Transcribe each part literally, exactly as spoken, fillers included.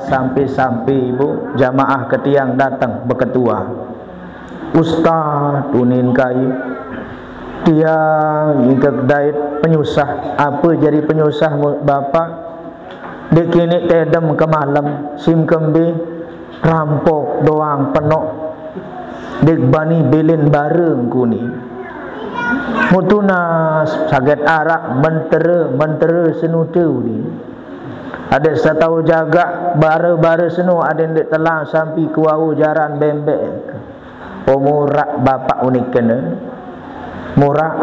Sampai-sampai ibu jamaah ke tiang datang beketua. "Ustaz," unin kai, "tiang ingkek dait penyusah." "Apa jari penyusah mu, Bapak?" "Dek kini tedem ke malam, sim kembe rampok doang penok. Dek bani bilin bareng kuni." Mutunas saget arak mentera, mentera senute uni. Adik satau jaga bara-bara seno adik dek telang sampi kuau jaran bembek. "Oh, murak bapak unik kena. Murak,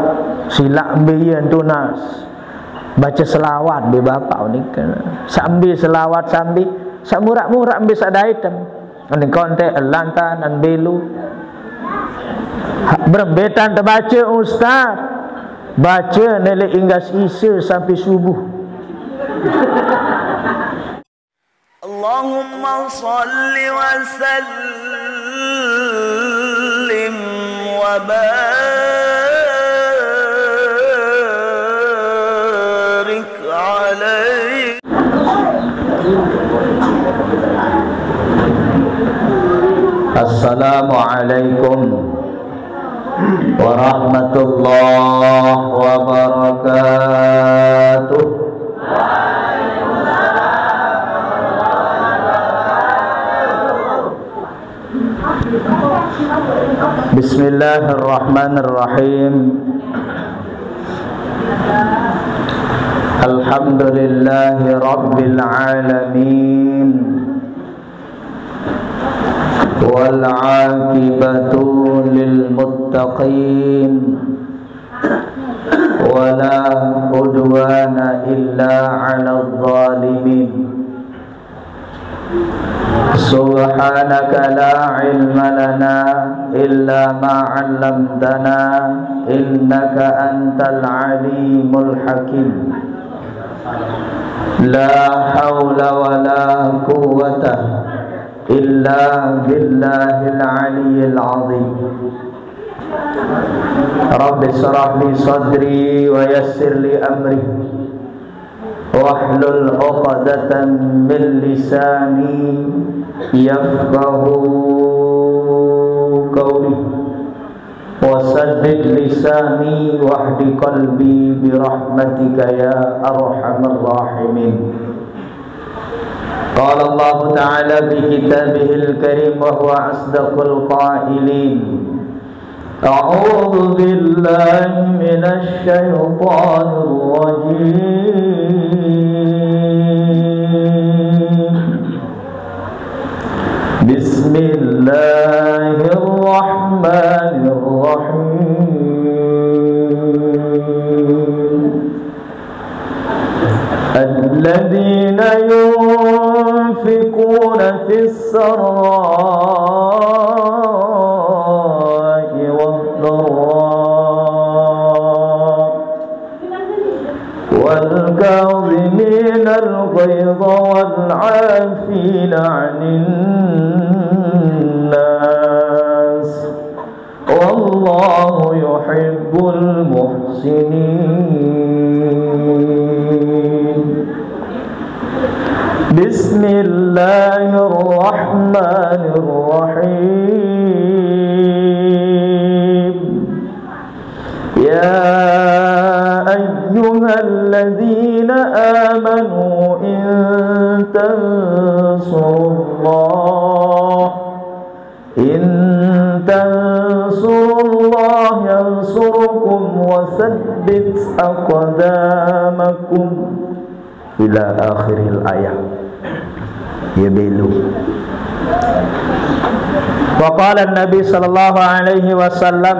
silak mbian tunas. Baca selawat be bapak unik kena. Sambi selawat sambi, sak murak-murak mbi sak daitem. Aning kontek, lantan, an belu. Ha, berembetan terbaca, Ustaz. Baca nelek inggas isa sampai subuh." اللهم صل وسلم وبارك عليه. السلام عليكم ورحمة الله وبركاته. بسم الله الرحمن الرحيم. الحمد لله رب العالمين. والعاقبة للمتقين. ولا عدوان إلا على الظالمين. سبحانك لا علم لنا إلا ما علمتنا إنك أنت العليم الحكيم. لا حول ولا قوة إلا بالله العلي العظيم. رب اشرح لي صدري ويسر لي أمري واحلل عقدة من لساني يفقهوا قولي. وسدد لساني واهد قلبي برحمتك يا أرحم الراحمين. قال الله تعالى في كتابه الكريم وهو أصدق القائلين: أعوذ بالله من الشيطان الرجيم. بسم الله الرحمن الرحيم. الذين ينفقون في السراء والضراء والكاظمين الغيظ والعافين عن الناس والله يحب المحسنين. بسم الله الرحمن الرحيم. يا أيها الذين آمنوا إن تنصروا الله إن تنصروا الله ينصركم ويثبت أقدامكم. إلى آخر الآية. Ya belu. وقال النبي صلى الله عليه وسلم.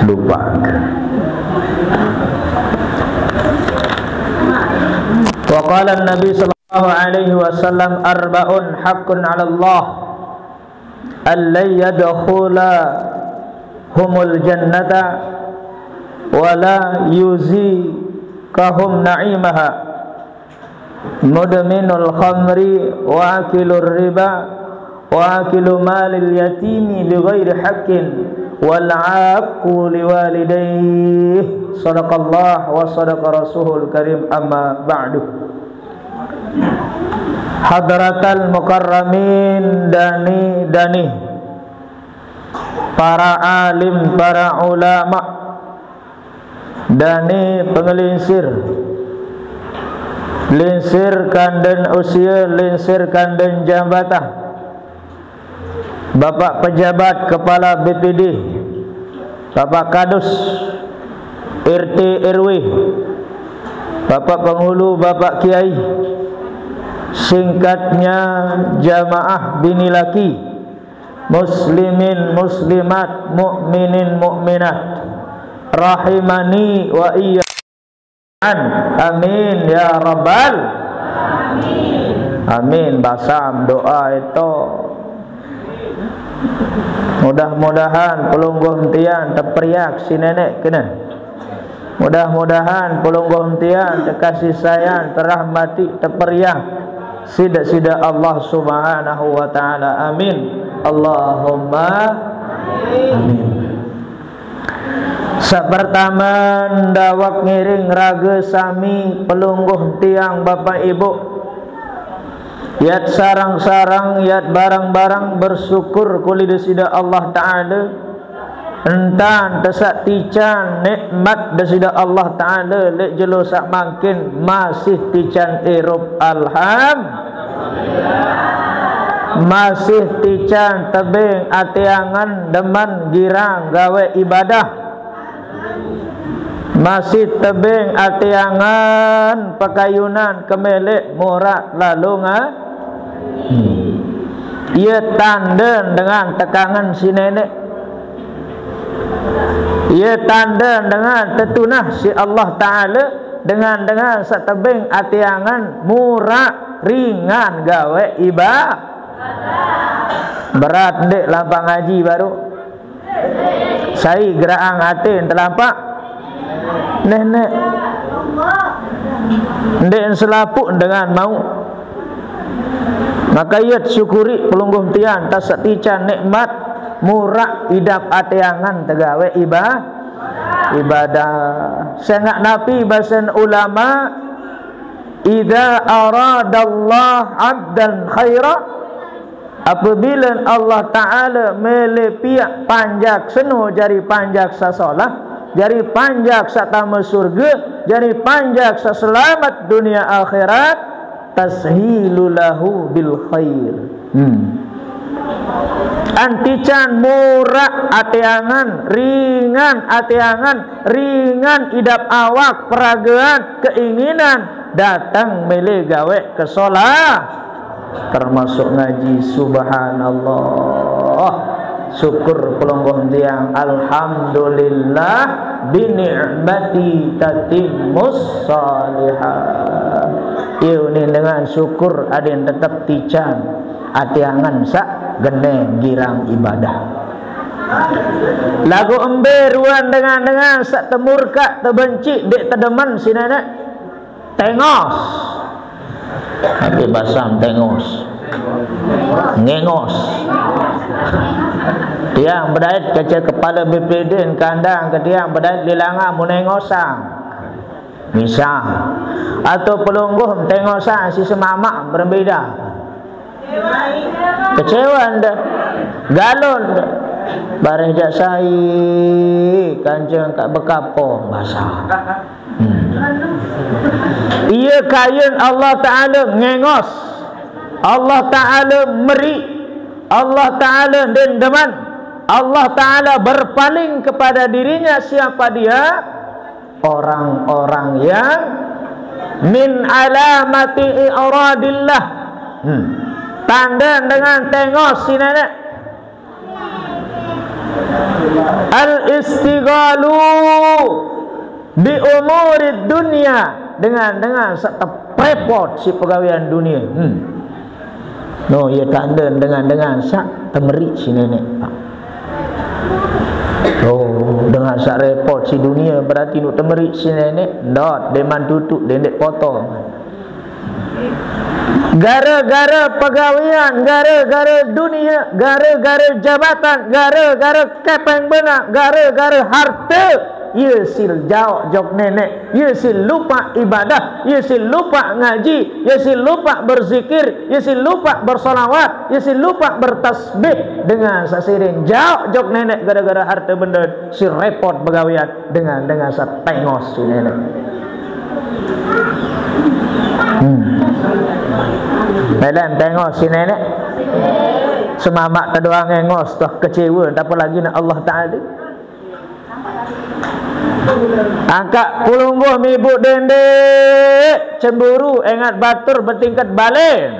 Lupa. وقال النبي صلى الله عليه وسلم: أربع حق على الله أن لا يدخلهم الجنة ولا يذيقهم نعيمها: مدمن الخمر وآكل الربا وآكل مال اليتيم بغير حق والعاق لوالديه. صدق الله وصدق رسوله الكريم. أما بعد. حضرة المكرمين, dani-dani, para alim, para ulama, dani pengelingsir, lingsir kanden usia, lingsir kanden jabatan, Bapak Pejabat Kepala B P D, Bapak Kadus, R T R W, Bapak Penghulu, Bapak Kiai, singkatnya jamaah bini laki, muslimin muslimat, mukminin mukminat, rahimani wa iyyakum. Amin ya rabbal amin. Basam doa itu. Mudah-mudahan pelungguh tiang teperiak si nenek kena. Mudah-mudahan pelungguh tiang tekasih sayang, terahmati, teperiak sida-sida Allah Subhanahu wa taala. Amin. Allahumma amin. Sapertama, ndawak ngiring raga sami pelungguh tiang Bapak Ibu. Yat sarang-sarang, yat barang-barang bersyukur kuli Desida Allah Ta'ala. Entan tesak tican nikmat Desida Allah Ta'ala, lek jelo sak mangkin masih tican irup. Alham. Masih tican tebing ati angan demen girang gawe ibadah. Masih tebing ati angan pekayunan kemelek murak lalu nga. Hmm. Ia tanden dengan tekangan si nenek. Ia tanden dengan tetunah si Allah Ta'ala dengan, dengan setebing ati angan murak ringan gawe iba. Berat ndik lampang ngaji baru. Sai geraang ati telampak nenek. Ndik selapuk dengan mau. Maka ia syukuri pelungguh tiang tasak tican nikmat murak idap ati angan tegawe iba, ibadah. Sengak napi basen ulama, "Idza aradallah 'abdan khaira." Apabila Allah Ta'ala mele piak panjak seno jari panjak sasolah, jari panjak satama surga, jari panjak saselamat dunia akhirat, tashilu lahu bil khair. Hmm. Antican murak ati angan, ringan ati angan, ringan idap awak, peragaan, keinginan, datang mele gawe kesolah. Termasuk ngaji, subhanallah. Syukur pelungguh tiang, alhamdulillah, bi ni'mati tatimmus salihah. Iyo ni dengan syukur aden tetep tican ati angan sak gene girang ibadah. Lagu embe ruan dengan-dengan sak temurka, tebenci, dek tedemen si nenek. Tengos. Tapi basam tengos. Ngengos. Tiang bedait kece kepala B P D kandang ke tiang bedait lilanga mu nengosang. Misal. Atau pelungguh tengosang si semamak berbeda. Kecewa enda. Galon enda. Bareh jak sai, kanjeng kak bekapo basah. Hmm. Ia kayen Allah Ta'ala ngengos. Allah Ta'ala meri. Allah Ta'ala dendeman. Allah Ta'ala berpaling kepada dirinya siapa dia? Orang-orang yang min alamati i'radillah. Hmm. Tanda dengan tengos si nenek. Al-istighalu bi umurid dunya, dengan, dengan sak teprepot si pegawean dunia. Hmm. No, ia tanda dengan, dengan sak temerik si nenek. Oh, dengan sak repot si dunia berarti nuk temerik si nenek. Ndot, deman tutuk, dendek potong. Gara-gara pegawean, gara-gara dunia, gara-gara jabatan, gara-gara kepeng beuna, gara-gara harte, ieu si jaok jok nenek, ieu si lupa ibadah, ieu si lupa ngaji, ieu si lupa berzikir, ieu si lupa bersolawat, ieu si lupa bertasbih. Dengan sasiring jaok jok nenek gara-gara harte benda, si repot pegawean. Dengan, dengan satengos si nenek. Hmm. Medan tengos si nenek. Semamak tedoang engos toh kecewa, tak apa lagi nak Allah Ta'ala. Angkat pulungguh mibuk dendek, cemburu, engat batur bertingkat balen.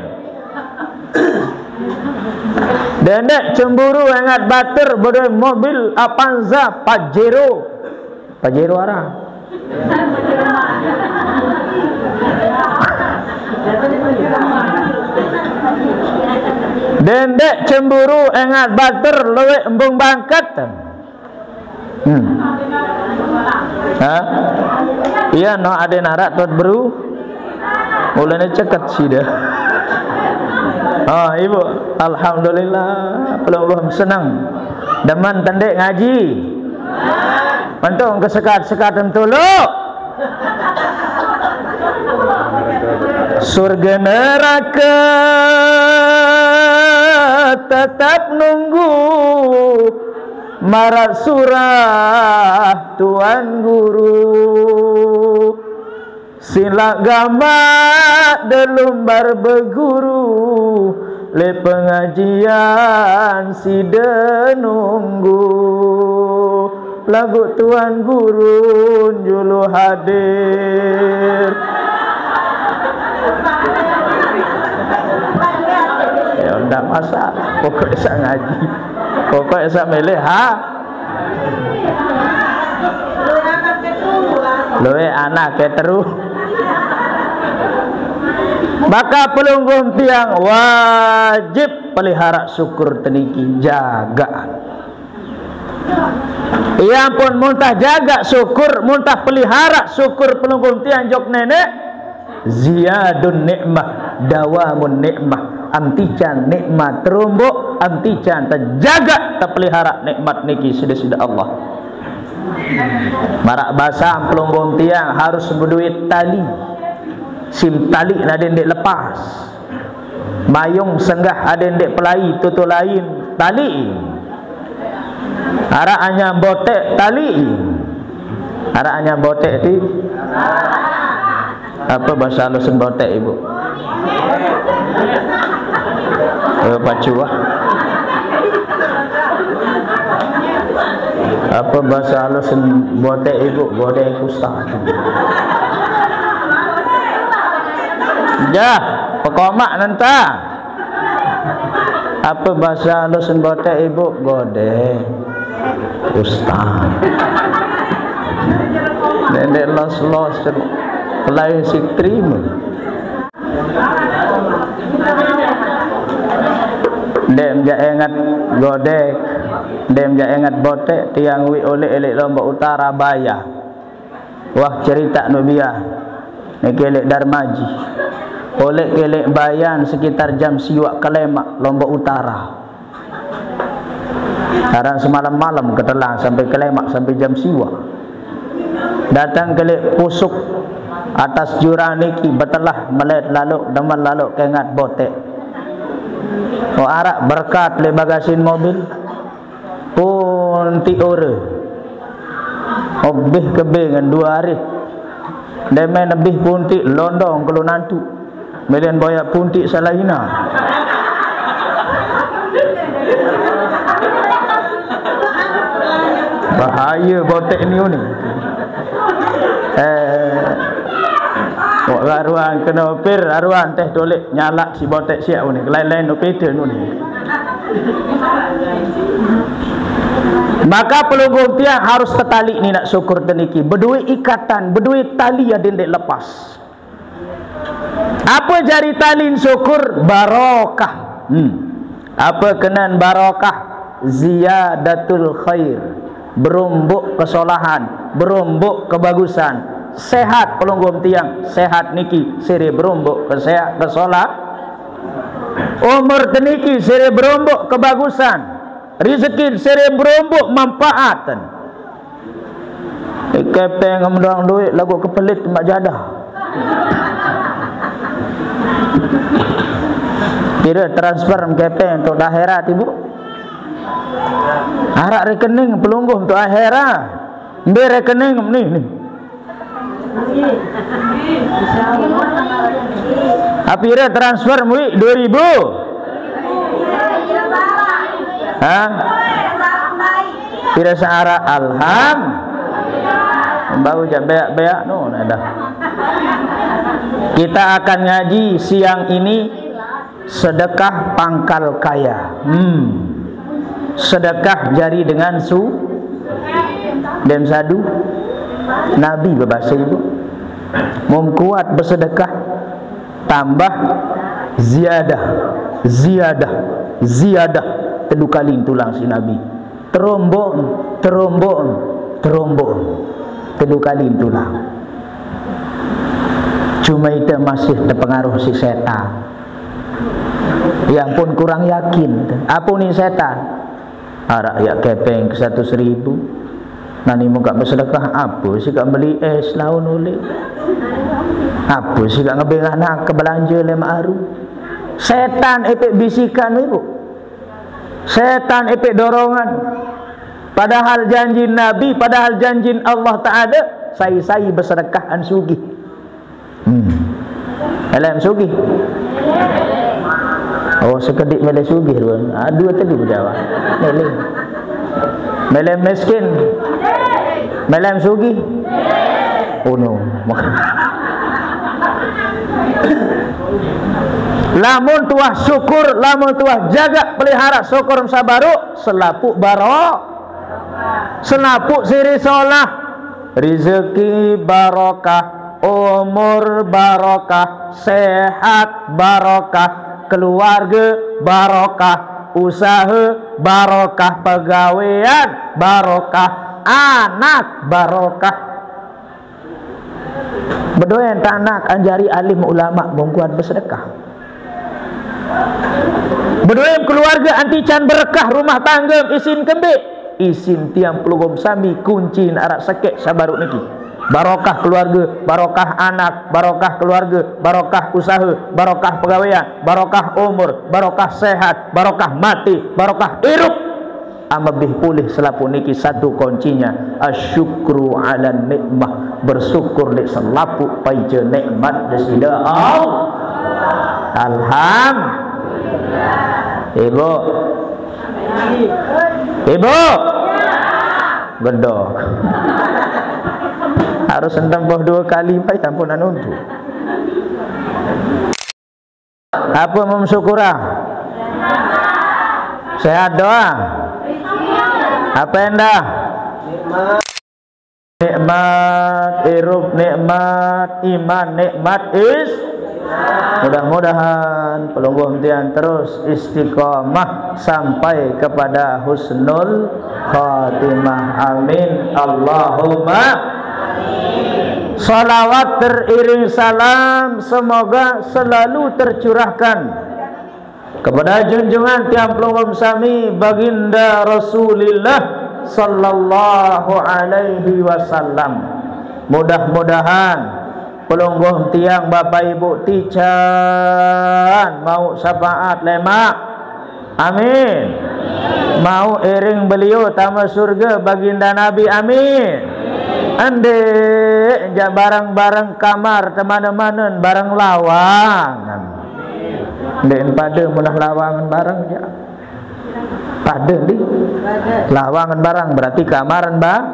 Dendek cemburu engat batur bedoe mobil Avanza Pajero. Pajero arah. Dendek cemburu engat batur luwek embung bangket. Hmm. Ha? Iya, no, ade narak tuat beru. Mulane ceket sida. Oh, ibu, alhamdulillah, pelungguh senang. Demen tendek ngaji. Mentong ke sekat-sekat tuluk. Surga neraka tetap nunggu. Marak surah Tuan Guru, silak gamak delumbar beguru, le pengajian sida nunggu, lagu Tuan Guru julu hadir. Ya, ndak masalah. Pokok esa ngaji. Pokok esa milih ha. Luwek anak ke teru. Maka pelungguh tiang wajib pelihara syukur teniki, jagaan. Ia pun muntah jaga syukur, muntah pelihara syukur pelungguh tiang jok nenek. Ziyadun nikmah, dawamun nikmah. Am tican nikmat terumbuk, am tican tejaga, tepelihara nikmat niki sida-sida Allah. Marak basa pelungguh tiang harus beduit tali. Sim tali nadin dek lepas. Mayung senggah ade ndek pelai tutu lain, tali. Arak anyam botek, tali. Arak anyam botek ti. Apa bahasa halusan botek, Ibu? Eh, pacuah. Apa bahasa halusan botek, Ibu? Godek ustaz. Jah, pekomak nanta. Apa bahasa halus botek, Ibu? Godek ustaz. Nenek los-los, lain si terima. Dem jak ingat godek, dem jak ingat botek, tiang wi oleh elik Lombok Utara baya. Wah, cerita nubiah. Ni kelek Darmaji. Oleh kelek bayan sekitar jam siwak Kelemak, Lombok Utara. Sekarang semalam-malam ketelang sampai Kelemak, sampai jam siwak. Datang kelek pusuk atas jurang niki, betelah melet laluk, demen laluk kengat botek. Oh, arak berkat le bagasin mobil. Puntik ora. Obeh kebe ngan dua hari. Demen lebih puntik londong kelu nantu. Melen boyak puntik salahina. Bahaya botek ni ni. Eh, wak aruan kena opir, aruan teh tolek nyalak si botek siak ni. Lain-lain no pete ni. Maka pelungguh tiang harus tetali ni nak syukur teniki. Bedui ikatan, bedui tali adin dek lepas. Apa jari talin syukur? Barokah. Hmm. Apa kenan barokah? Ziyadatul khair. Berumbuk kesolahan, berumbuk kebagusan. Sehat pelungguh tiang, sehat niki sire berombok kesehat kesolah. Umur teniki sire berombok kebagusan. Rezeki sire berombok manfaatan. Kepeng ngemdong duit lagu kepelit mak jadah. Kira transfer kepeng untuk akhirat ibu. Arak rekening pelungguh untuk akhirat. Ambil rekening ni ni. Apira transfer muik dua ribu? Ha? Pira searah alham. Bau jak beak-beak no dah. Kita akan ngaji siang ini sedekah pangkal kaya. Hmm. Sedekah jari dengan su dem sadu. Nabi berbahasa ibu. Mum kuat bersedekah tambah ziyadah, ziyadah, ziyadah. Telu kali tulang si Nabi. Terombok, terombok, terombok. Telu kali tulang. Cuma kita masih terpengaruh si setan. Yang pun kurang yakin. Apa ni setan? Arak yak kepeng ke satu seribu. Nani muka bersedekah apa sih kak beli es laun ulik? Apa sih kak ngebeng anak ke belanja lima aru? Setan epek bisikan ibu. Setan epek dorongan. Padahal janji Nabi, padahal janji Allah Ta'ala, sai-sai bersedekah an sugih. Hmm. Elem sugih. Oh, sekedik mele sugih ruan. Ah, dua telu Jawa. Mele. Mele miskin. Mele sugih. Oh no. Lamun tuah syukur, lamun tuah jaga pelihara syukur sabaru, selapuk baro, selapuk siri solah, rezeki barokah, umur barokah, sehat barokah, keluarga barokah, usaha barokah, pegawean barokah, anak barokah. Bedoen tanak anjari alim ulama bongkuan bersedekah. Bedoen keluarga anti can berkah rumah tangga isin kembik. Isin tiang pelugom sami kunci arak sekek sabaruk niki. Barokah keluarga, barokah anak, barokah keluarga, barokah usaha, barokah pegawean, barokah umur, barokah sehat, barokah mati, barokah irup. Amebih pulih selapuq niki satu kuncinya, asyukru ala nikmah, bersyukur leq selapuq paice nikmat Deside Allah. Alham-, Ibu. Ibu. Gedok. Harus entempoh dua kali, pai tampunan untuk. Apa mum syukura? Sehat doa. Apa endah? Nikmat, irup nikmat, iman nikmat, is. Mudah-mudahan pelungguh tiang terus istiqomah sampai kepada husnul khatimah. Amin. Allahumma. Salawat teriring salam semoga selalu tercurahkan kepada junjungan tiang pelungguh sami Baginda Rasulillah sallallahu alaihi wasallam. Mudah-mudahan pelungguh tiang Bapak Ibu tican mau syafaat lemaq. Amin. Mau iring beliau tama surga Baginda Nabi. Amin. Endeq jaq bareng-bareng kamar temane-manen bareng lawangan. Endeq pade munah lawangan bareng jaq. Pade ndi? Lawangan bareng berarti kamaren ba-,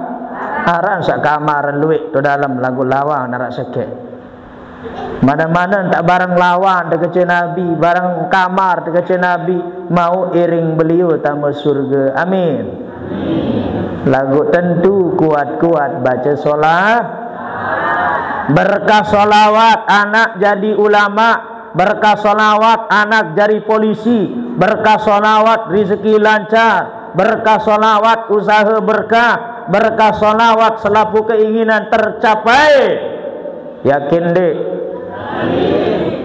aran saq kamaren lueq to dalem laguq lawangan araq sekeq. Mane-mane tak bareng lawan tekece Nabi, bareng kamar tekece Nabi, mau iring beliau tame surge. Amin. Laguq tentu kuat-kuat bace solah. Berkah solawat anak jadi ulama, berkah solawat anak jadi polisi, berkah solawat rezeki lancar, berkah solawat usaha berkah, Berkah salawat selapuh keinginan tercapai. Yakin, Dik?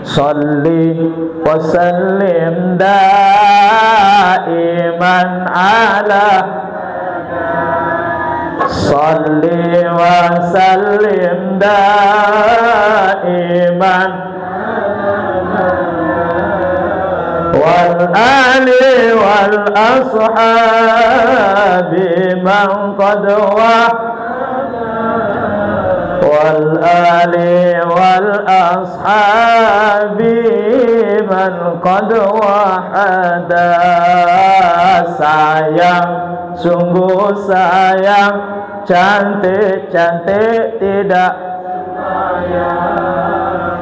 Salli wa sallim daiman ala. Salli wa sallim daiman. Wal ali wal ashabi man qad wa-, wal ali wal ashabi man qad wahada. Sayang, sungguh sayang, cantik-cantik tidak.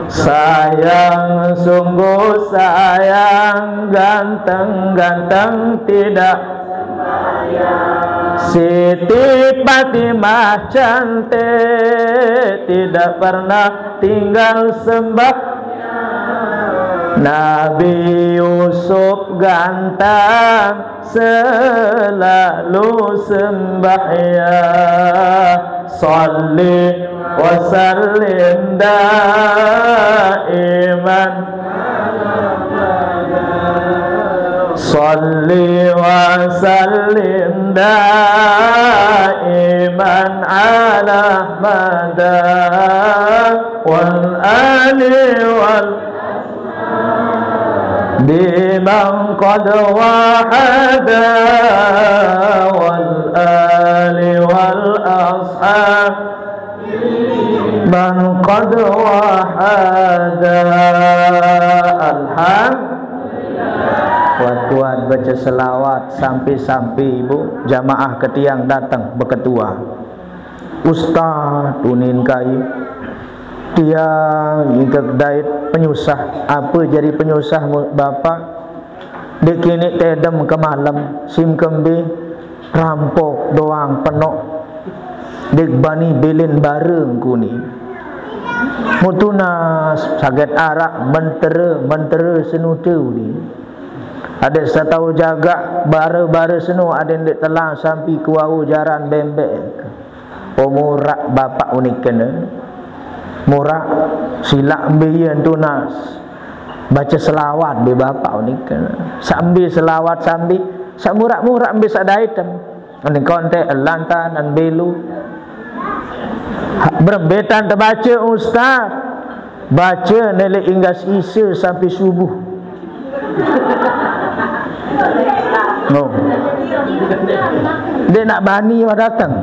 Sayang, sungguh sayang, ganteng-ganteng tidak. Siti Fatimah cantik, tidak pernah tinggal sembah. Nabi Yusuf ganteng, selalu sembahyang. Salli wa sallim daiman. Salli wa sallim daiman ala mada. Wal ali wal biman qad wahada. Wal ali wal ashab man qad wahada. Alham-, kuat-kuat baca selawat sampai-sampai, Ibu, jamaah ketiang datang beketua. Ustaz, unin kai, tiang ingkek dait penyusah. Apa jadi penyusah, mu-, Bapak? Dek kini tedem ke malam, sim kembe, rampok doang penok. Dek bani bilin bareng kuni. Mutunas saget arak mentere, mentere senute uni. Adik setau jaga, bare-bare seno adik dek telang sampi kuau jaran bembek. Oh, murak bapak unik kena. Murak silak mbiyen tunas. Baca selawat be bapak unik kena. Sambil selawat sambil, sak murak-murak mbe sak daitem. Ni kontek lantanan belu. Ha, berembetan terbaca ustaz. Baca nelek inggas isa sampai subuh. No. Dia nak bani wah datang.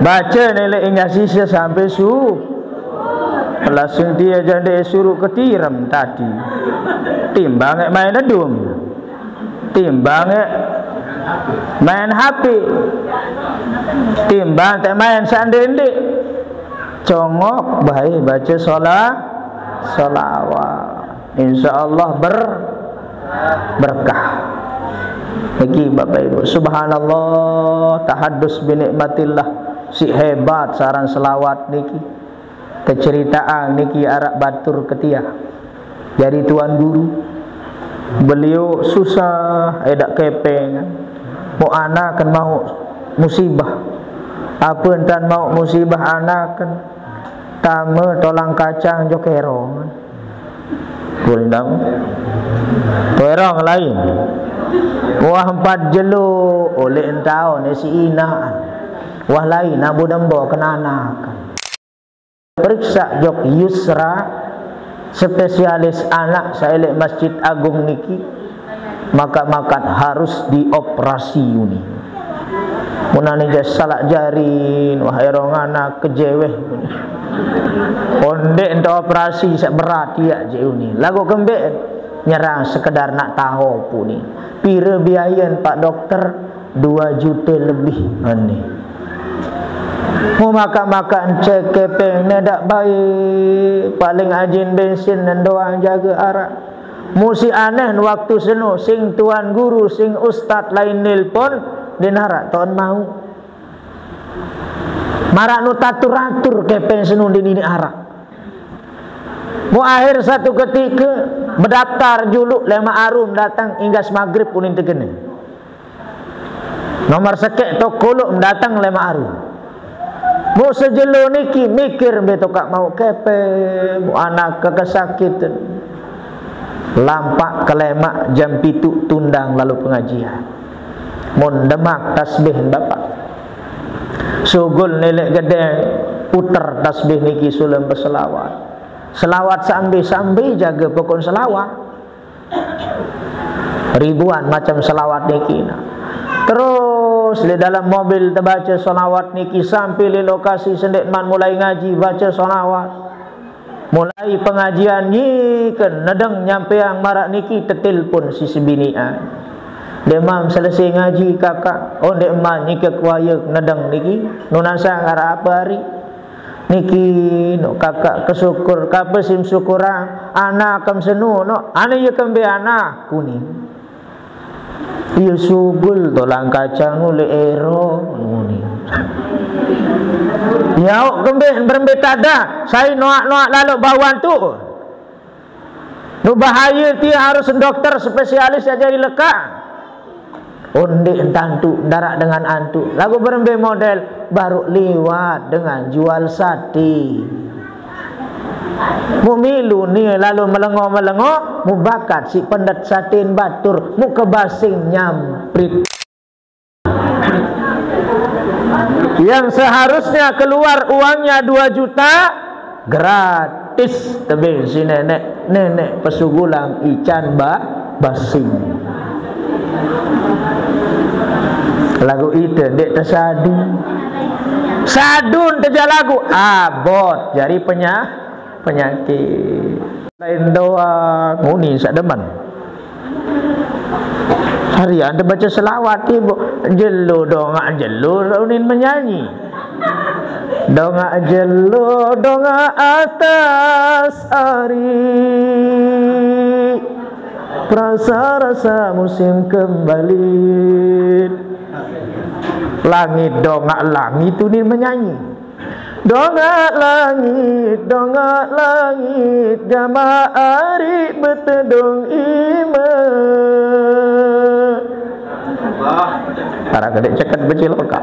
Baca nelek inggas isa sampai su-, langsung dia jande suruh ketirem tadi. Timbang main adum. Timbang ya main H P. Timbang tak main sandende. Congok baik baca sola-, solawat. Insya Allah ber-, berkah. Niki Bapak Ibu, subhanallah, tahadus binikmatillah. Si hebat saran selawat niki. Keceritaan niki arak batur ketia. Jadi tuan guru, beliau susah, edak kepeng. Mau anak kan mau musibah. Apa entan mau musibah anak kan? Tama tolang kacang jo kerong. Boleh tahu? Kerong lain. Wah empat jelo oleh entau ne si ina. Wah lain abu dembo kenanak. Periksa jok Yusra, spesialis anak saelek Masjid Agung niki, maka-maka harus dioperasi uni. Munani je salak jari, wah erong anak kejeweh. Ondek ento operasi sak berat ya je uni. Lagu kembek nyerang sekedar nak tahu puni. Pira biayan Pak Dokter? Dua juta lebih. Ani. Mau makan-makan cek kepeng ne dak baik. Paling ajin bensin dan doang jaga arak. Musi aneh waktu seno sing tuan guru sing ustad lain nelpon, den arak ton mau. Marak nu tatur-atur kepeng seno di nini arak. Mu akhir satu ketika bedaftar juluk lema arum datang inggas maghrib unin tegene. Nomor sekek to kuluk dateng lemaq aru. Muk sejelo niki mikir mbe to kak mauq kepeng, muk anak kekesakitan. Lampaq kelemaq jam pituq tundang lalo pengajian. Mun demaq tasbih Bapak. Sugul neleq gedeng puter tasbih niki sulem beselawat. Selawat sambi-sambi jage pokon selawat. Ribuan macem selawat niki, nah. Terus leq dalem mobil tebace selawat niki sampe leq lokasi sendeqman mulai ngaji bace selawat. Mulai pengajian nyiken nedeng nyampeang maraq niki tetelpon si sebiniqan. Ndeqman selese ngaji, Kakak. Oh, ndeqman nike kuaye nedeng niki. Nunasang araq ape ari? Niki, no, Kakak kesukur, kape sim syukurang, ana kem senu, no, ane ye kembe ana, kuning. Iye sugul tolang kacang nu leq ero, kuning. Yaoq kembe berembe tada, sai noaq-noaq laloq bauan tu. Nu bahaye tie harus dokter spesialis saq jari lekaq. Ondeq entantu, ndaraq dengan antu. Laguq berembe model, baruq liwat dengan jual sate. Muq milu nie lalo melengo-melengo, muq bakat siq pendet saten batur, muq kebasing nyamprit. Yang seharusnya keluar uangnya dua juta, gratis tebeng si neneq, neneq pesugulang ican ba-, basing. Laguq ite ndeq tesadu. Sadun teja laguq, abot jari penya-, penyakit. Lain doang, uni saq demen. Harian tebace selawat, Ibu. Jelo dongaq jelo, unin menyanyi. Dongaq jelo, dongaq atas ari. Perasa-rasa musim kembali. Langit dongaq langit, unin menyanyi. Dongaq langit, dongaq langit, gamaq ari betedung ime. Araq gede ceket becilokaq.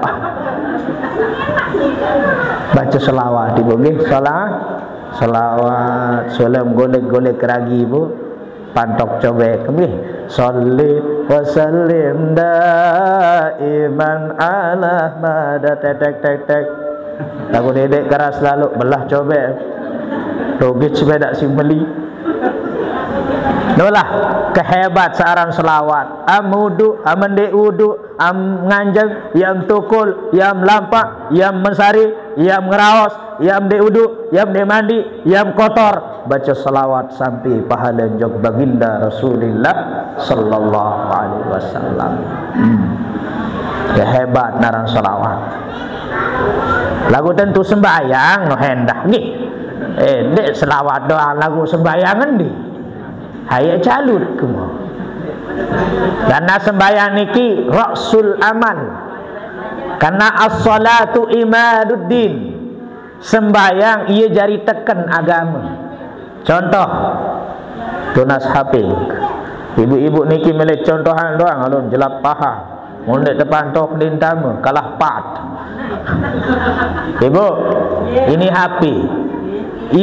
Bace selawat, Ibu, nggih. Sela-, selawat, sulem golek-golek ragi, Bu. Pantok cobek, nggih. Sholli wa sallim daiman ala mada, tek, tek, tek, tek. Laguq ndeq keras laloq, belah cobek. Rugit sepedaq si meli. Nolah, kehebat searan selawat. Am wudu, am ndeq wudu, am nganjeng, yam tukul, yam lampaq, yam mesari, yam ngeraos, yam ndeq wudu, yam ndeq mandi, yam kotor. Bace selawat sampe pahale jok Baginda Rasulillah sallallahu alaihi wasallam. Hmm. Ya, hebat naran selawat. Laguq tentu sembahyang, no hendah nggih. Eh, ndeq selawat doang laguq sembahyang endi? Haye calut kemo. Karena sembahyang niki rasul amal. Karena as-salatu imaduddin. Sembahyang iye jari teken agame. Contoh, tunas H P. Ibu-ibu niki milih contohan doang, alun jelap paha. Mun ndeq tepantok lintame, kalah pat. Ibu, ini H P.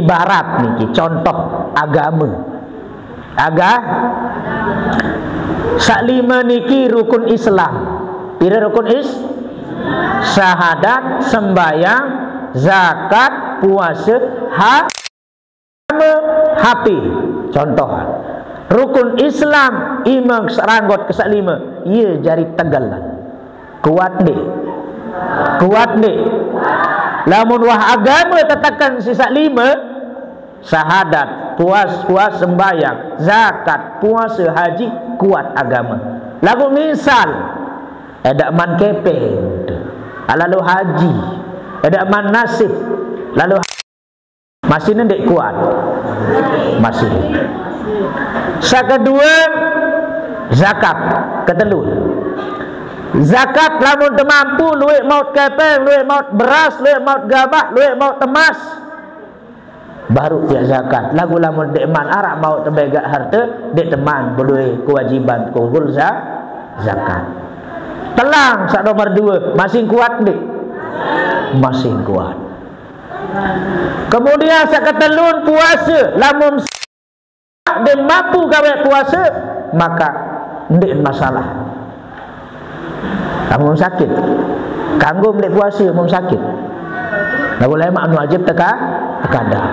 Ibarat niki contoh agame. Aga? Saq lime niki rukun Islam. Pire rukun is-, syahadat, sembahyang, zakat, puase, ha-, H P. Contoh. Rukun Islam, ime seranggot ke saq lime, iye jari tegelan. Kuat ndeq? Kuat ndeq? Lamun wah agame teteken siq saq lime, syahadat, puas, puas sembahyang, zakat, puase, haji, kuat agame. Laguq misal, edaq man kepeng, lalo haji, edaq man nasib, lalo masih ndeq kuat. Masih. Saq kedue, zakat. Ketelu. Zakat lamun temampu, lueq maut kepeng, lueq maut beras, lueq maut gabah, lueq maut emas. Baruq piaq zakat. Laguq lamun ndeqman araq maut tebegaq harte, ndeq teman bedoe kewajiban kumpul za-, zakat. Telang saq nomor due, masih kuat ndeq? Masih kuat. Kemudian saq ketelun puase, lamun ndeq mampu gaweq puase, maka ndeq masalah. Lamun sakit, kanggo ndeq puase mun sakit. Laguq lemaq anu wajib teka-, tekadang.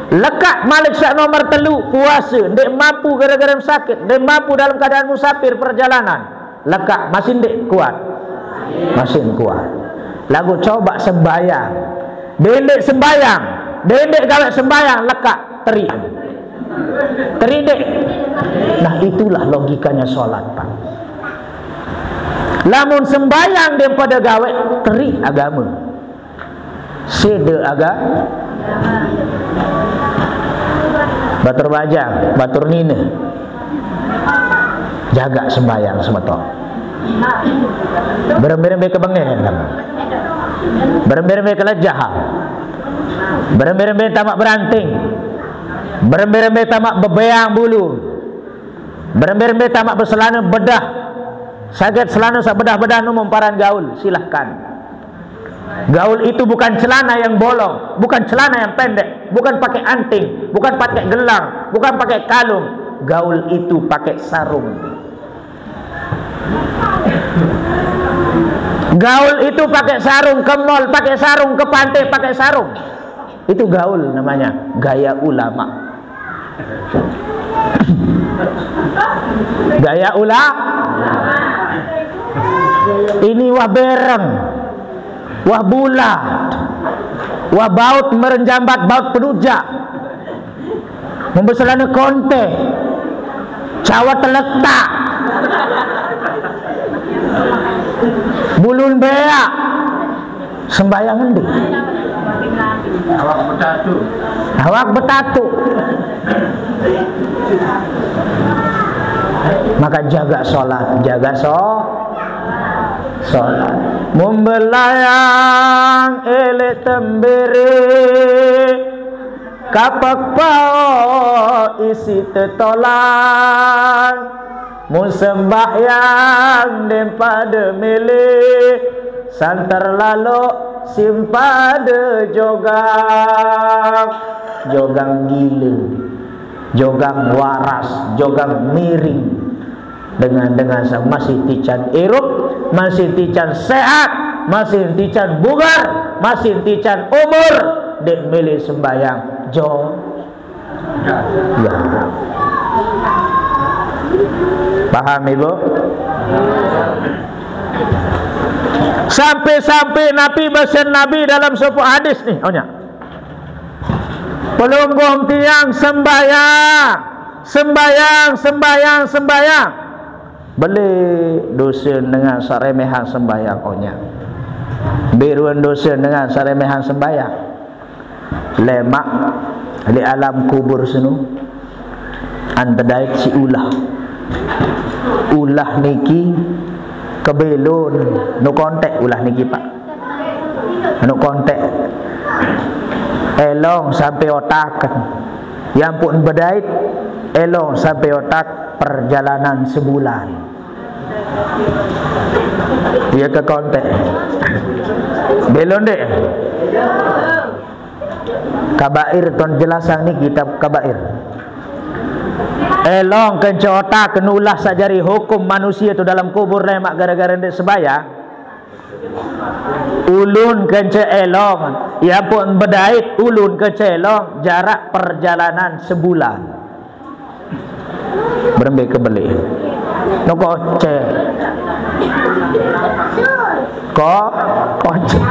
Lekaq malik saq nomor telu, puase, ndeq mampu gara-gara sakit, ndeq mampu dalam keadaan musafir perjalanan. Lekaq, masih ndeq kuat? Masih kuat. Laguq coba sembayang. Dendeq sembayang, dendeq gaweq sembayang, lekaq, teriq. Teriq ndeq? Nah, itulah logikanya sholat, Pak. Lamun sembayang ndeq pade gaweq, teriq agame. Side aga-, batur bajang, batur nine. Jagaq sembayang, semeton. Berembe-rembe kebengehan. Berembe-rembe kelejah. Berembe-rembe tamaq beranting. Berembe-rembe tamaq bebeang bulu. Berembe-rembe tamaq beselane bedah. Saget selane saq bedah-bedah nu memparan gaul, silahkan. Gaul itu bukan celana yang bolong, bukan celana yang pendek, bukan pakai anting, bukan pakai gelang, bukan pakai kalung. Gaul itu pakai sarung. Gaul itu pakai sarung, ke mall pakai sarung, ke pantai pakai sarung. Itu gaul namanya, gaya ulama. Gaya ula-, ini wah bereng, wah bulat, wah baut merenjambat, baut penujak. Membeselane konte, cawat teletak, bulun beak. Sembahyang endi? Awak betatu. Awak betatu. Maka jaga sholat, jaga so-, sholat. Membelayang elek tembere, kapak pao isi tetolang. Mun sembahyang ndeq pade mele, santer lalo simpade jogang. Jogang gile, jogang waras, jogang miring. Dengan-dengan saq masih tican irup, masih tican sehat, masih tican bugar, masih tican umur, ndeq mele sembahyang. Jo-, Ya. Paham, Ibu? Sampai-sampai Nabi, besen Nabi dalam sopoq hadis ni, onyaq. Pelungguh tiang sembahyang, sembahyang, sembahyang, sembahyang. Beleq dose dengan saq remehan sembahyang, onyaq. Mbe ruen dose dengan saq remehan sembahyang? Lemaq leq alam kubur seno, an bedait siq ulah. Ulah niki kebelon, nu kontek ulah niki, Pak. Anu kontek. Elong sampai otak. Ye ampoqn bedait, elong sampai otak perjalanan sebulan. Ye ke kontek. Belon ndeq? Kabair, ton jelasang ni kitab Kabair. Elong kance otak, nu ulah saq jari hukum manusie tu dalem kubur lemaq gare-gare ndeq sembahyang. Ulun kance elong, ye ampoqn bedait, ulun kance elong, jarak perjalanan sebulan. Berembe kebeleq? No kocek. Ko-, kocek.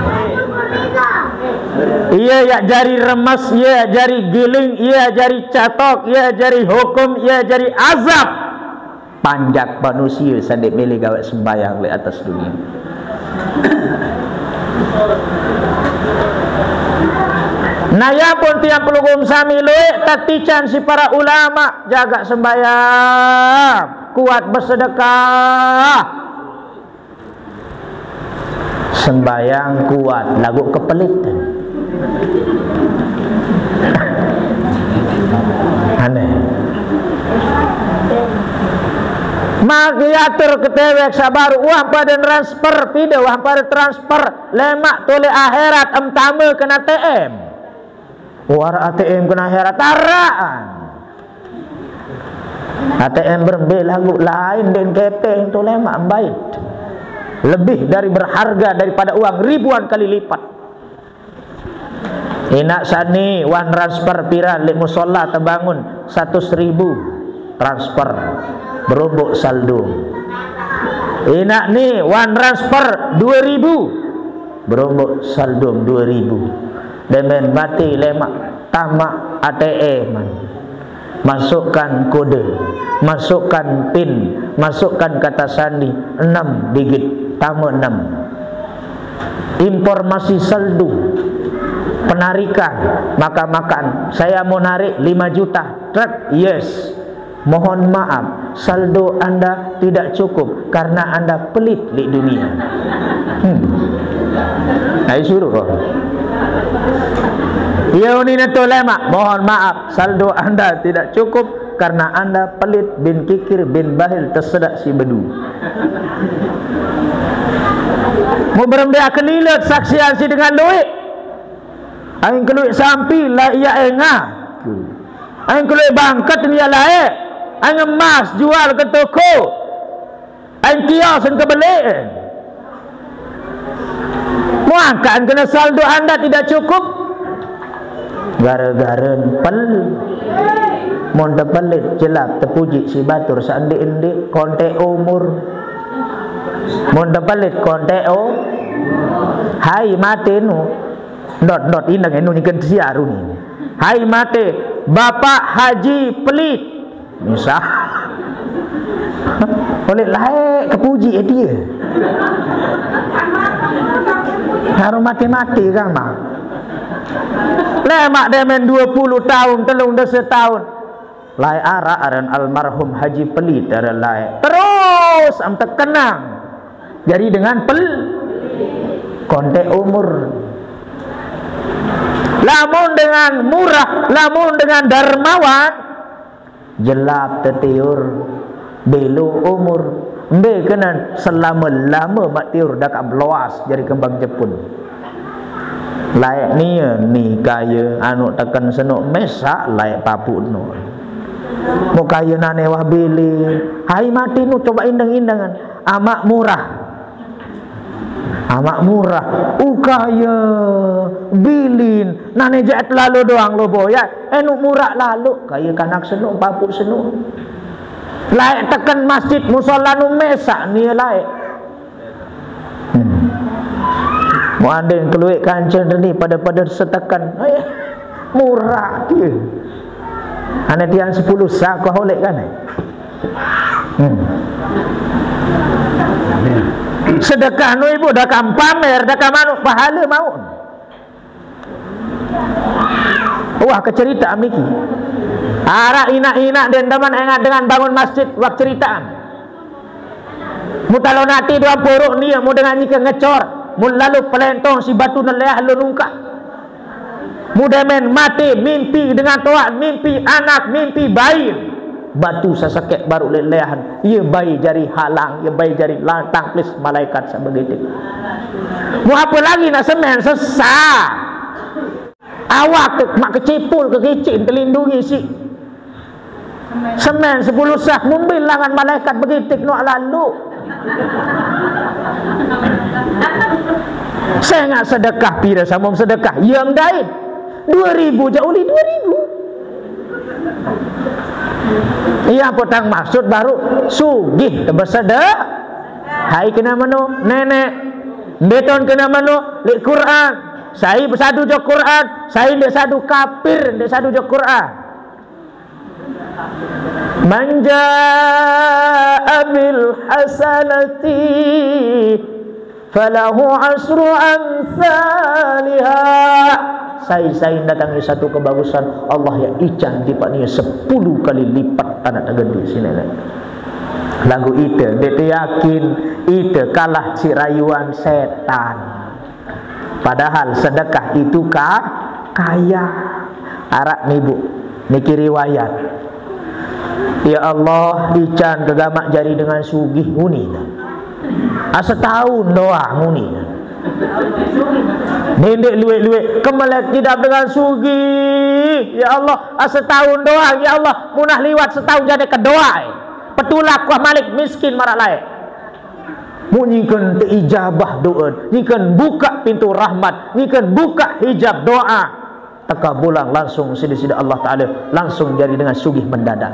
Iye yaq jari remes, iye yaq jari giling, iye yaq jari catok, iye yaq jari hukum, iye yaq jari azab. Panjak manusie saq ndeq mele gaweq sembahyang leq atas dunie. Nah, ye pun tiang pelungguh sami lueq tetican siq para ulama, jagaq sembahyang, kuat besedekah. Sembahyang kuat, laguq kepeliten. Aneh. Maka atur ketewek sabar, wah pada transfer, pida wah pada transfer, lemak toleh akhirat, em tama kena A T M. Wah, A T M kena akhirat, taraan. A T M berembe lagu lain den kepeng tu lemak embait. Lebih dari berharga daripada uang ribuan kali lipat. Inak sani wan transfer pira lek musola tebangun, satus ribu transfer, berombok saldo. Inak ni wan transfer dua ribu, berombok saldo dua ribu. Demen mati lemak, tamak A T M. Masukkan kode, masukkan pin, masukkan kata sandi, enam digit, tama enam. Informasi saldo, penarikan, makan-makan. Saya mau narik lima juta. Trek, yes. Mohon maaf, saldo Anda tidak cukup karena Anda pelit di dunia. Hmm. Ai suruh kau. Iya, uni neto lemak. Mohon maaf, saldo Anda tidak cukup karena Anda pelit bin kikir bin bahil tersedak si bedu. Mau berembe akelilet saksian si dengan luit. Aing keluit sampi lah iya enga. Aing keluit bangket ni iya lae. Aing emas jual ke toko. Aing kios ke beli. Muangkan kena saldo Anda tidak cukup. Gara-gara pel. Mun tepelit jelap tepuji si batur sendi-endi kontek umur. Mun tepelit kontek o. Hai mati nu. Dot dot indang enu nyiken siaru ni. Hai mati Bapak Haji Pelit. Misah. Oleh lae kepuji eh dia. Harus mati-mati kan mah. Lemak demen dua puluh tahun, telung dasa tahun. Lae arak aran almarhum Haji Pelit aran lae. Terus am terkenang. Jadi dengan pel kontek umur. Lamun dengan murah, lamun dengan dermawan, jelap tetiur, belo umur. Mbe kenen selama-lama mak tiur dakak beloas jadi kembang jepun. Lae nia ni kaya anu teken senuk mesak lae papu nu. Mu kaya nane wah bili. Hai mati nu coba indeng-indengan. Amak murah. Amak murah. Ukaya bilin. Nane jaat lalu doang lo boya. Enu murah lalu. Kaya kanak senuk, papu senuk. Lae teken masjid musola nu mesak nia lae. Hmm. Muandin keluik kancil ni pada-pada seteken. Eh, murah dia. Ane tiang sepuluh sakoh oleh kan eh. Hmm. Sedekah nu ibu dah kam pamer, dah kam anu pahala mau. Wah, kecerita am niki. Arak inak-inak den daman engat dengan bangun masjid wak ceritaan. Mu talon ati dua porok nia mu dengan nyike ngecor. Mu lalu pelentong si batu neleah lo nungkak. Mu demen mati mimpi dengan toak, mimpi anak, mimpi bayi. Batu sasakek baru leleahan. Ia bayi jari halang, ia bayi jari lantang plis malaikat sabegitu. Mu apa lagi nak semen sesah. Awak tu mak kecipul ke kicin terlindungi si. Semen sepuluh sah mumbil langan malaikat begitik nuak lalu. Saya nggak sedekah pira samum sedekah yang dain. Dua ribu je uli dua ribu. Iya potang maksud baru sugih tebesedek. Hai kena menu nenek. Beton kena menu lek Quran. Saya bersadu je Quran. Saya ndak sadu kafir, ndak sadu je Quran. Man jaa bil hasanati falahu asru amsaliha. Sai-sai datang satu kebagusan, Allah yang ican lipat nia sepuluh kali lipat tanah tergede sini. Lagu ita, dia yakin ita kalah si rayuan setan. Padahal sedekah itu ka kaya. Arak nibu niki riwayat. Ya Allah, ican ke gamak jari dengan sugih, nguni. Ah, setahun doang, nguni. Ndeq lueq-lueq, kemelet idap dengan sugih. Ya Allah, ah, setahun doang, ya Allah, munah liwat setahun jari kedoa. Petulak wah malik miskin maraq laeq. Muq nyingken teijabah do'en, nyingken bukaq pintu rahmat, nyingken bukaq hijab doa. Tekabulang langsung side-side Allah Ta'ala, langsung jari dengan sugih mendadak.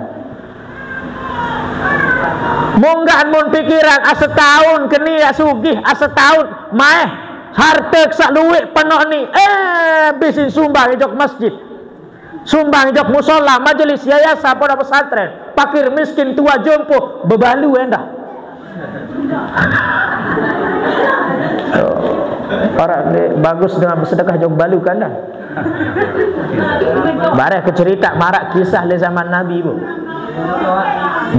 Munggah mun pikiran, ah, setahun keni ya sugih, ah, setahun maeh harte saq lueq penoq ni, eh, bisin sumbang ojok masjid. Sumbang jok musola, majelis, yayasan, pondok pesantren, pakir miskin, tua jompo, bebalu endah. Orang ni bagus dengan bersedekah jok bebalu kan dah. Bareh kecerita maraq kisah le zaman Nabi, Bu.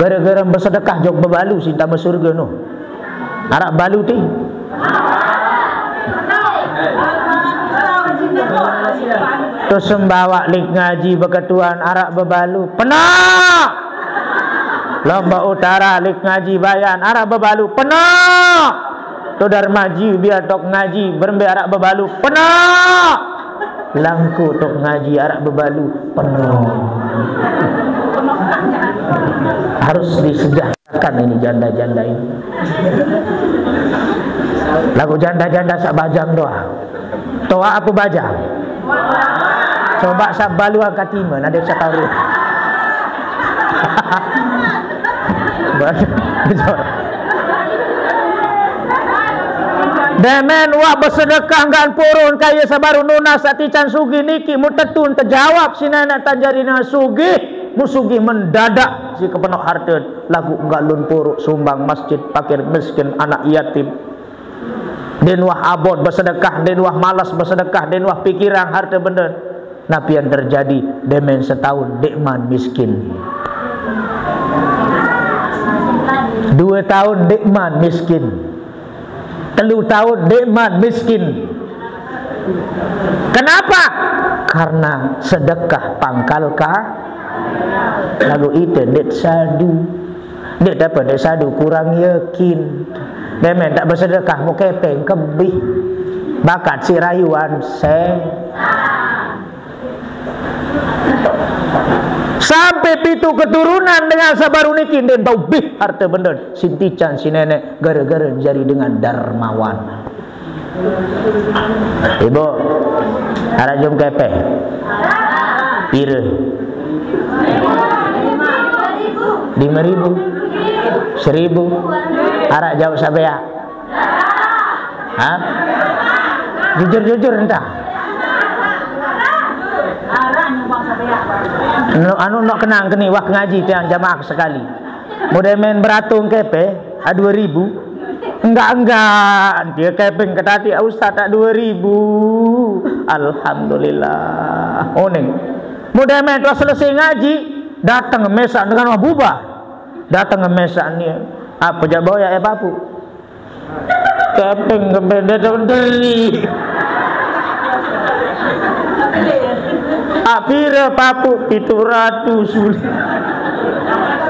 Gara-gara bersedekah jok bebalu, sinta surga no. Araq bebalu ti. To Sembawaq lik ngaji beketuan araq bebalu. Penoq! Lombok Utara lik ngaji bayan araq bebalu. Penoq! To Darmaji biar tok ngaji berembe araq bebalu. Penoq! Langku tok ngaji araq bebalu. Penoq! Harus disejahkan ini janda-janda ini. Laguq janda-janda saq bajang doang. Toaq ape bajang? Cobaq saq bebalu angkat ime, nade saq karo. Demen wah besedekah ngan purun kaye saq baruq nunas saq tican sugih niki, mun tetun tejawab siq Neneq tan jari dengan sugih, mun sugih mendadak siq kepenoq harte. Laguq ndeq lun puruk sumbang masjid, pakir miskin, anak yatim. Ndeqn wah abot besedekah, ndeqn wah males besedekah, ndeqn wah pikiran harte bende. Napi yang terjadi? Demen setaun ndeqman miskin. Due taun ndeqman miskin. Telu taun ndeqman miskin. Kenapa? Karena sedekah pangkal ka-, laguq ite ndeq sadu. Ndeq dapat, ndeq sadu, kurang yakin. Demen tak besedekah, mu kepeng kebih. Bakat siq rayuan se. Sampai pitu keturunan dengan saq baruq niki ndeqn bau bih harte bende siq tican siq Neneq gara-gara jari dengan dermawan. Ibu, araq jom kepeng? Pire? Lime ribu? Seribu? Araq jauq saq beaq? Hah? Jujur-jujur entah. No, anu, nok kenang keni wah ngaji tiang jamaah sekali. Mode men beratung kepe, ah, dua ribu. Enggak, enggak, dia kepeng ke tadi, ah, Ustaz, tak dua ribu. Alhamdulillah. Oning. Mode men tuah selesai ngaji, dateng mesaq dengan wah bubah. Dateng mesaq ni. Apa jaq boyaq ya, Papu? Kepeng kempen dia tahu deri. Apire, Papu? Pitu ratus.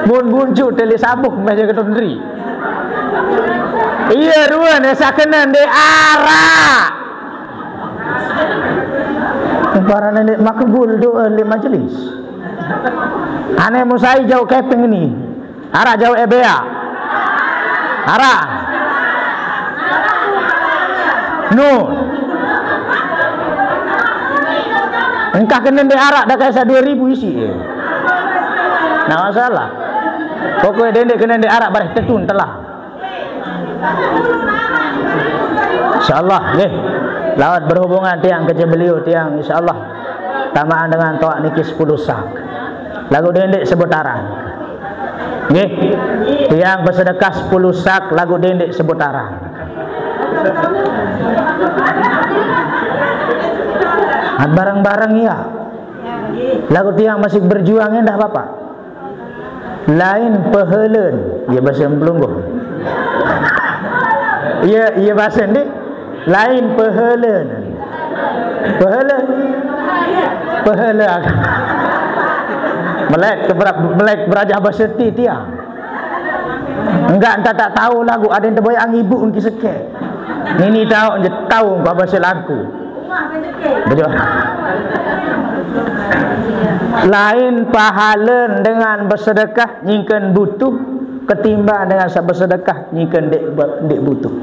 Mun buncu tele sabuk meh jaga tondri. Iya, ruan ya sakenen de araq. Para nenek makbul doa di majelis. Ane musai jauh kepeng ni. Araq jauq ebeaq? Araq? No. Engkah kene ndeq araq, dah kayak saq due ribu isiq, ye. Nah, masalah. Pokoknya dendeq kene ndeq araq, bareh tetun telah. Insyaallah, nggih. Lawat berhubungan tiang kece beliau, tiang insyaallah tamaan dengan toaq niki sepuluh sak. Laguq dendeq sebut araq. Nggih. Tiang besedekah sepuluh sak laguq dendeq sebut araq. Bareng-bareng ya. Laguq tiang masih berjuang endah, Bapak. Lain pehelen, ya, bahasa pelungguh. Ya, ya, bahasa ndik. Lain pehelen. Pehelen. Pehelen. Melek ke bera-, melek berajah bahasa ti tiang. Enggak, entah tak tahu lagu, ada yang terbayang ibu engki sekek. Nini tahu je tahu engkau bahasa lagu. Betul. Lain pahala dengan bersedekah nyingken butuh ketimbang dengan sa-, bersedekah nyingken dek, dek butuh.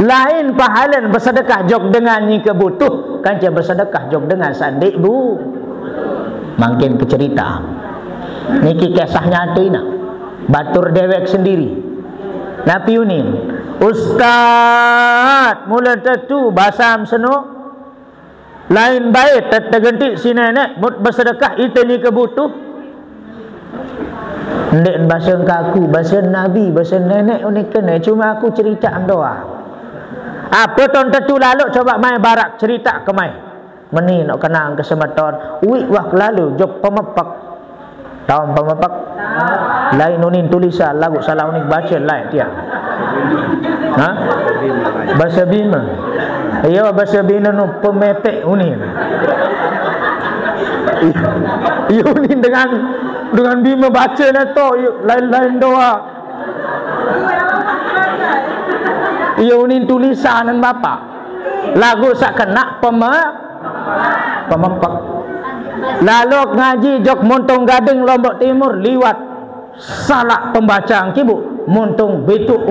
Lain pahalen besedekah jok dengan nyike butuh, kance besedekah jok dengan sandik bu. Mangkin kecerita. Niki kisah nyata ina. Batur dewek sendiri. Napi unin? Ustaz, mula tetu basam seno. Lain bae te-, tegenti si nenek, mut besedekah ite ni kebutuh. Ndek bahasa kaku, bahasa Nabi, bahasa nenek unik kene. Cuma aku cerita doang. Apa ton tetu lalu coba mai barak cerita ke mai. Meni nok kenang ke semeton. Wik wah kelalu jok pemepek. Tahu pemepek? Lain unin tulisan lagu salah unin baca lain tiang. Ha? Bahasa Bima. Iya, bahasa Bima nu pemepek unin. Iya unin dengan, dengan Bima baca na to, iya, lain-lain doa. Iya unin tulisan bapak. Lagu sak kena peme-, pemepek. Lalu ngaji jok Montong Gading Lombok Timur liwat salak pembacaan kibu Montong Betuk.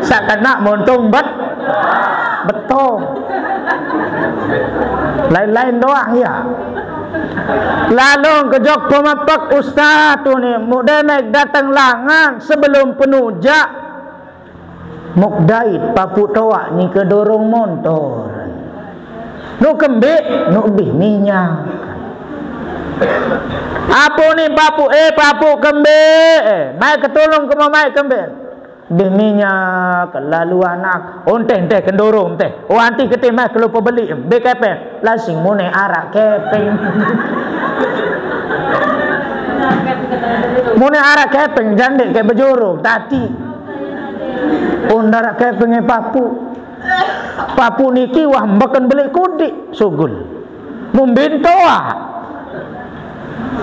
Sak kena Montong Bet-, Betong. Lain-lain doang ya. Lalu ke jok pemepek ustaz tu ni, muk demek datang langan sebelum penujak. Muk dait papu toak ni kedorong montor. Nuk kembik, nuk bih minyak. Apu ni papu, eh, papu kembik, eh, mai ketulung ke mai kembik. Bih minyak, lalu anak. Oh, enteh, enteh, kendorong, enteh. Oh, anti ketih mai kelupa beli, bih kepeng. Lasing mune arak kepeng. Mune arak kepeng, jandek ke bejorong, tati. Undara kepenge papu. Papu niki wah mbeken belik kudik sugul. Mumbin toa.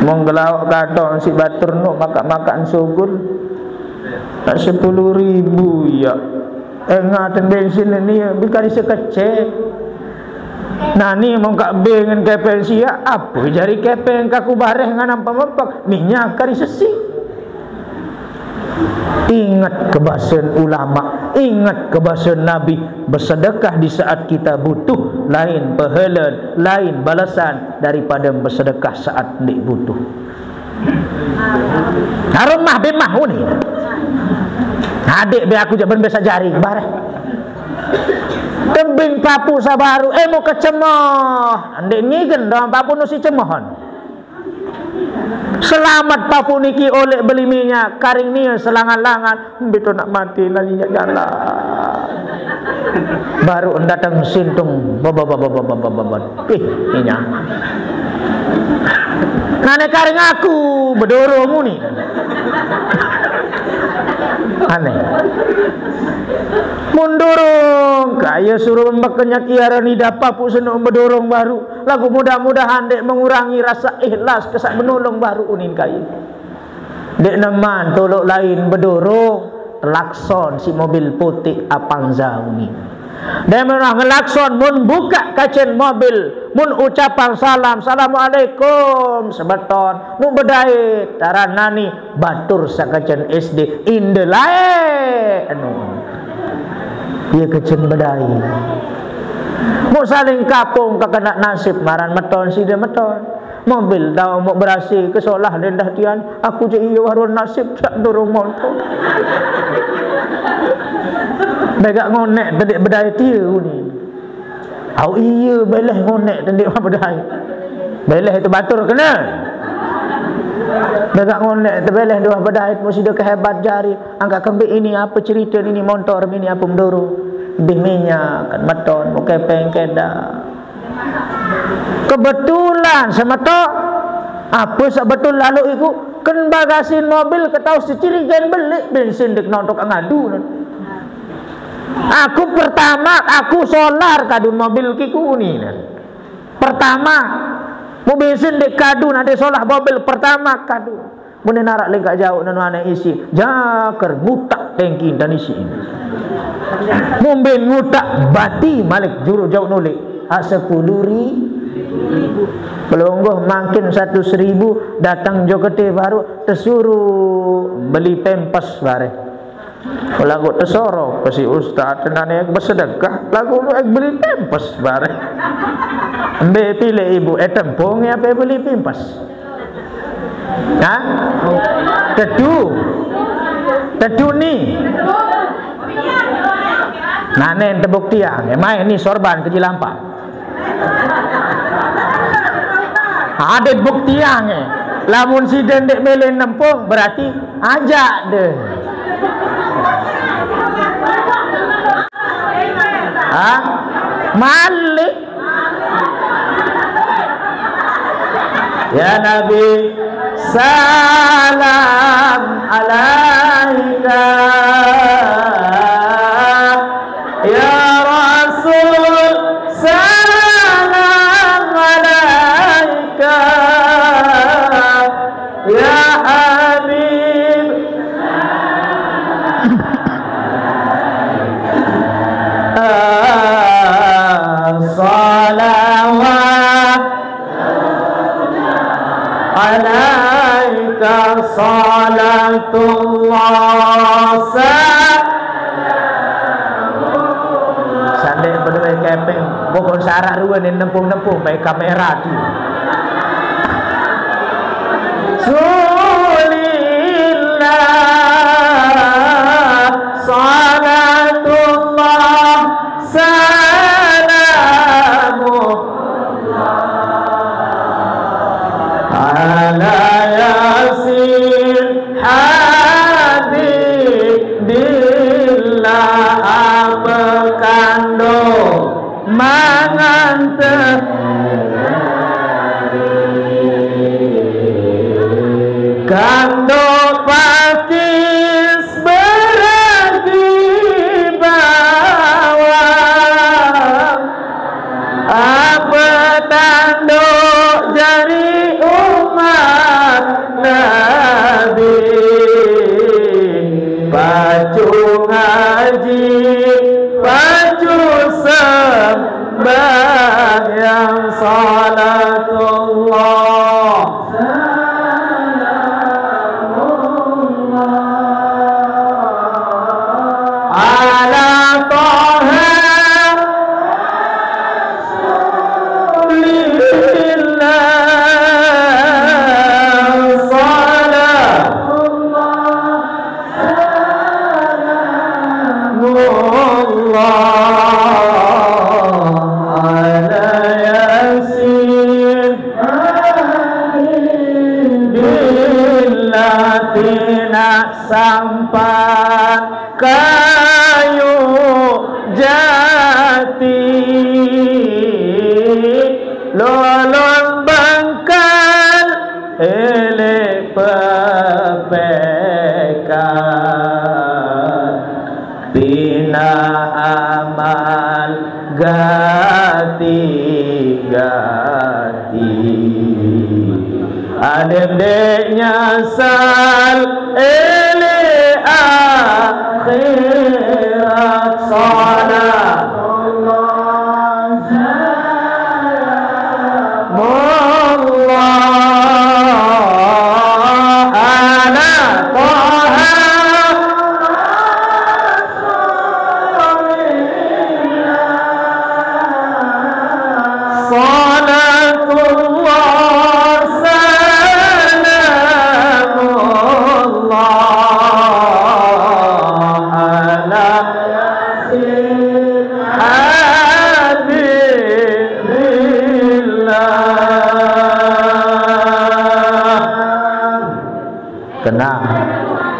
Mong gelawak kadong si batur nu makak-makan sugul. Nak sepuluh ribu ya. Engaten bensin ni bikari sekecek. Nani mong kak bengen kepeng sia, apa jari kepeng kaku bareh nganam pemepek, minyak kari sesi. Ingat kebasan ulama, ingat kebasan Nabi, bersedekah di saat kita butuh, lain pahalan, lain balasan daripada bersedekah saat ndik butuh. Harum mah bemah uni. Adik be aku jaban besa jari bareh. Tebing papu sabaru, eh, mau kecemoh. Ndik ngigen doang papu nusi cemohon. Selamat papu niki oleh beli minyak, karing nia selangan-langan, betul nak mati lagi nyak jalan. Baru datang sintung, baba, baba, baba, baba, baba. Ih, minyak. Nane karing aku, bedorong uni. Aneh. Mundurung, kaya suruh mbak kenyat iara ni dapa pu senuk bedorong baru. Lagu mudah-mudahan dek mengurangi rasa ikhlas kesak menolong baru unin kayu. Dek neman tolok lain bedorong, telakson si mobil putih Avanza unin. Dek menah ngelakson mun buka kacen mobil, mun ucapan salam, "Assalamualaikum," sebeton, nu bedai, taran nani, batur sakacen S D, inde lae, anu. Iya kecen bedai. Mau saling kapung ke kena nasib maran meton sida meton. Mobil tau mau berasi ke solah dendah tian. Aku je iya warun nasib tak durung monto. Begak ngonek tedik bedai tiu ni. Au iya beleh ngonek tedik bedai. Beleh itu batur kena. Begak ngonek tebeleh dua bedai musida kehebat jari. Angkat kembik ini apa cerita ini montor ini apa menduru. Bih minyak, kan meton, mau kepeng, keda. Kebetulan semetok, apa sebetul lalu iku, kan bagasin mobil ketau secirigen belik bensin dek nontok ngadu. Aku pertama, aku solar kadun mobil kiku ni. Pertama, mu bensin ndeq kadu, nade solah mobil Pertamax kadu. Mun ndeq naraq lengkaq jauq nenu ane isi, jaker ngutak tengki dan isi. Mumben ngutak bati malik juru jauq nulik. Hak sepulu ri-, pelungguh mangkin seratus ribu, dateng jok gede baruq tesuruh beli pempes bareh. Laguq tesorok pesi ustaz, tenane besedekah, laguq lu ek beli pempes bareh. Mbe pilih ibu, eh, tempung ape beli pempes? Hah? Tedu. Tedu ni. Nane tebuktiang, eh, main ni sorban ke Cilampaq. Adeq buktiang, eh. Lamun side ndeq mele nempung, berarti ajak deh. Hah? Malik. Ya Nabi, salam alaika. Ya Rasul, salam alaika. Ya Habib, salawat alaika salatullah. Sandek bedoe kepeng, pokok syarat ruen nempung-nempung baik kamera tu. Rasulillah, salatullah, salamu ala Yasin, Habibillah, ape kando mangan te-, kando pakis beragi bawang. Ape tanduk jari umat Nabi? Pacu ngaji, pacu sembahyang, salatullah. Ala Taha Rasulillah, salamullah ala Yasin. Bila tinaq sampan kayu jati, lolon bengkal eleq pepekan. Pina amal gati-gati, adeq ndeq nyasal eleq akhirat. Salatullah, salamullah ala Taha Rasulillah. Salatullah, salamullah ala Yasin Habibillah. Kenang,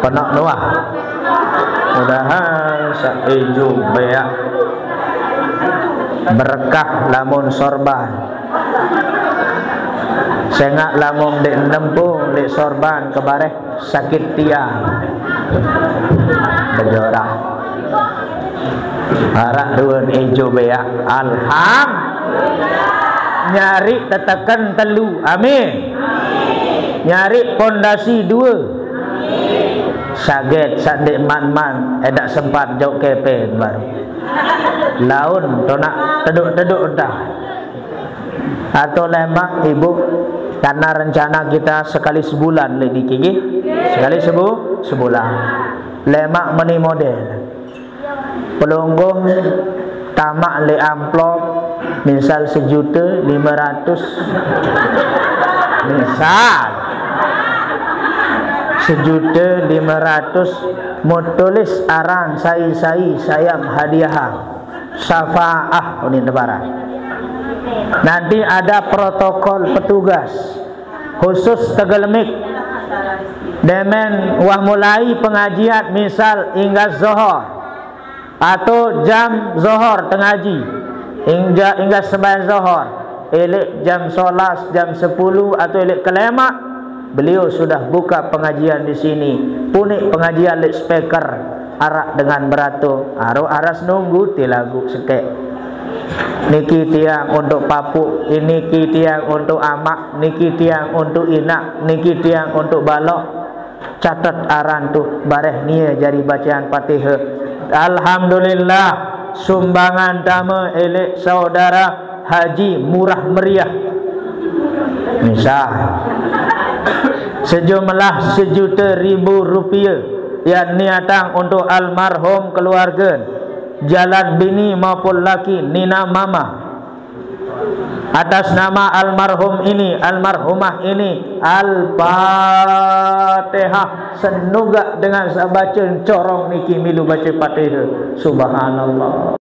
penoq nuah. Mudahan saq ijo beaq berkah lamun sorban. Sengaq lamun ndeq nempung, ndeq sorban, kebareh sakit tiang. Bejorah. Araq ruen ijo beaq. Alhamdulillah. Nyari teteken telu. Amin. Nyari pondasi dua. Saget sandik man-man, edak sempat jok kepeng baru. Laun tonak teduk-teduk dah. Atau lemak ibu, karena rencana kita sekali sebulan, lek dikiki. Sekali sebu-, sebulan. Lemak meni model. Pelungguh tamak lek amplop, misal sejuta lima ratus. Misal. Sejuta lima ratus, mau tulis aran sai-sai sayam hadiah. Syafaah unin lebaran. Nanti ada protokol petugas khusus tegelemik. Demen wah mulai pengajian misal inggas zohor atau jam zohor tengaji, ingga, inggas sembahyang zohor, elek jam solas, jam sepuluh atau elek kelemak, beliau sudah buka pengajian di sini. Punik pengajian lek speaker, arak dengan berato, aro aras nunggu ti lagu sekek. Niki tiang untuk papuk, niki tiang untuk amak, niki tiang untuk inak, niki tiang untuk balok. Catet aran tu, bareh nia jari bacaan Fatihah. Alhamdulillah, sumbangan dama elek saudara Haji Murah Meriah. Misal, sejumlah sejuta ribu rupiah yang niatang untuk almarhum keluarga, jalan bini maupun laki, nina mama. Atas nama almarhum ini, almarhumah ini, Al-Fatihah. Senugak dengan sabaca corong niki milu baca Fatihah. Subhanallah.